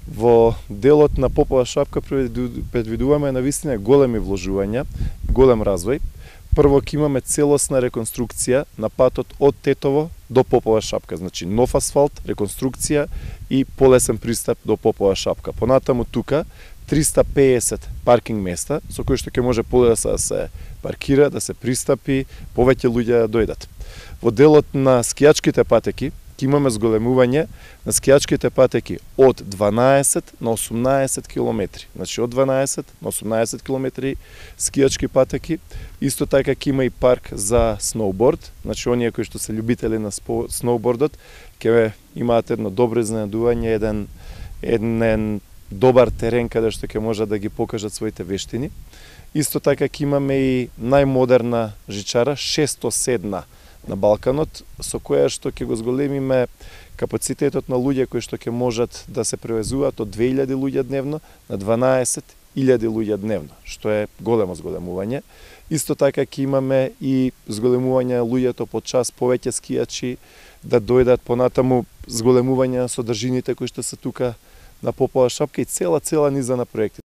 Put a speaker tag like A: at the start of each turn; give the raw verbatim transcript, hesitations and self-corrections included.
A: Во делот на Попова шапка предвидуваме навистина големи вложувања, голем развој. Прво ќе имаме целосна реконструкција на патот од Тетово до Попова шапка, значи нов асфалт, реконструкција и полесен пристап до Попова шапка. Понатаму тука триста пеесет паркинг места со кои што ќе може полесно да се паркира, да се пристапи, повеќе луѓе да дојдат. Во делот на скијачките патеки ќе имаме зголемување на скијачките патеки од дванаесет на осумнаесет километри. Значи од дванаесет на осумнаесет километри скијачки патеки. Исто така ќе има и парк за сноуборд, значи оние кои што се љубители на сноубордот ќе имаат едно добро изненадување, еден еден добар терен каде што ќе можат да ги покажат своите вештини. Исто така ќе имаме и најмодерна жичара, шесто седна на Балканот, со која што ќе го зголемиме капацитетот на луѓе кои што ќе можат да се превезуваат од две илјади луѓе дневно на дванаесет илјади луѓе дневно, што е големо зголемување. Исто така ќе имаме и зголемување на луѓето по час, повеќе скијачи да дојдат, понатаму зголемување на содржините кои што се тука на Попова шапка и цела цела низа на проекти.